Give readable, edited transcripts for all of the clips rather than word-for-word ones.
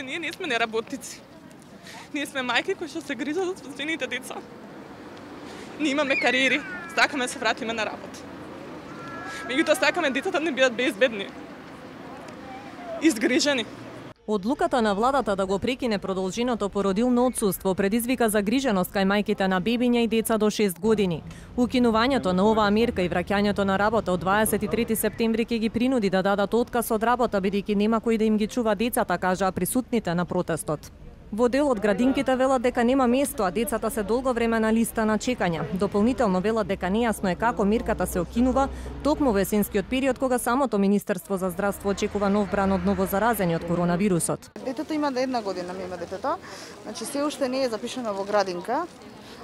ние не сме неработници. Ние сме мајки кои што се грижат за собствените деца. Ние имаме кариери, сакаме да се вратиме на работа. Меѓутоа сакаме децата да не бидат безбедни, изгрижени. Одлуката на владата да го прекине продолженото породилно отсуство предизвика загриженост кај мајките на бебиња и деца до 6 години. Укинувањето на оваа мерка и враќањето на работа од 23 септември ќе ги принуди да дадат отказ од работа бидејќи нема кој да им ги чува децата, кажаа присутните на протестот. Во дел од градинките велат дека нема место, а децата се долго време на листа на чекање. Дополнително велат дека нејасно е како мерката се окинува токму во есенскиот период кога самото Министерство за здравство очекува нов бран од новозаразени од коронавирусот. Детето има 1 година, има детето. Значи се уште не е запишано во градинка,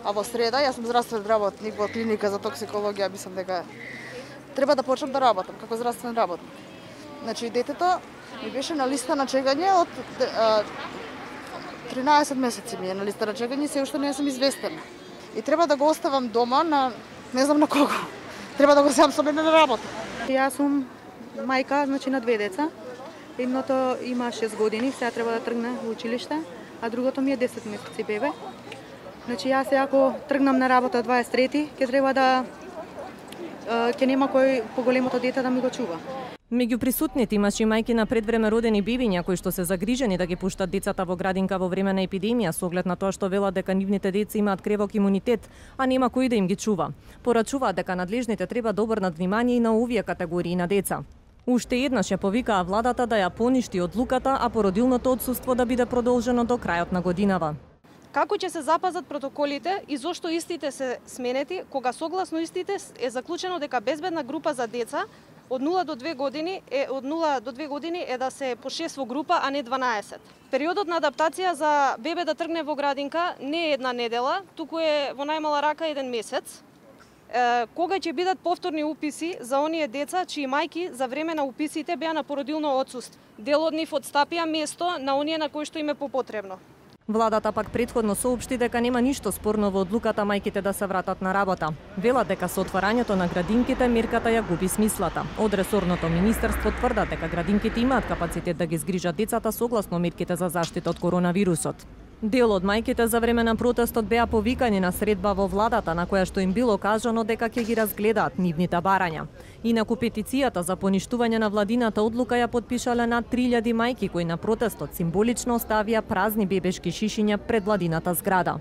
а во среда јас сум здравствен работник во клиника за токсикологија, мислам дека треба да почнам да работам како здравствен работник. Значи детето ми беше на листа на чекање од 13 месеци ми е на листа на чекање и се уште не сум известена. И треба да го оставам дома на не знам на кого. Треба да го земам со мене на работа. Јас сум мајка, значи на 2 деца. Едното има 6 години, сега треба да тргне во училиште, а другото ми е 10 месеци бебе. Значи јас сега ако тргнам на работа 23, ќе треба да ќе нема кој поголемото дете да ми го чува. Меѓу присутните имаше мајки на предвреме родени бебиња кои што се загрижени да ги пуштат децата во градинка во време на епидемија со оглед на тоа што велат дека нивните деца имаат кревок имунитет, а нема кој да им ги чува. Порачуваат дека надлежните треба да обрнат внимание и на овие категории на деца. Уште еднаш ја повикаа владата да ја поништи одлуката, а породилното отсуство да биде продолжено до крајот на годинава. Како ќе се запазат протоколите и зошто истите се сменети, кога согласно истите е заклучено дека безбедна група за деца од 0 до 2 години е да се по 6 во група, а не 12. Периодот на адаптација за бебе да тргне во градинка не е 1 недела, туку е во најмала рака 1 месец. Кога ќе бидат повторни уписи за оние деца чии мајки за време на уписите беа на породилно отсуство. Дел од нив отстапија место на оние на кои што им е попотребно. Владата пак претходно соопшти дека нема ништо спорно во одлуката мајките да се вратат на работа. Велат дека со отварањето на градинките мерката ја губи смислата. Од ресорното министерство тврдат дека градинките имаат капацитет да ги згрижат децата согласно мерките за заштита од коронавирусот. Дел од мајките за време на протестот беа повикани на средба во владата на која што им било кажано дека ќе ги разгледаат нивните барања. Инаку петицијата за поништување на владината одлука ја потпишале над 3000 мајки кои на протестот символично оставија празни бебешки шишиња пред владината зграда.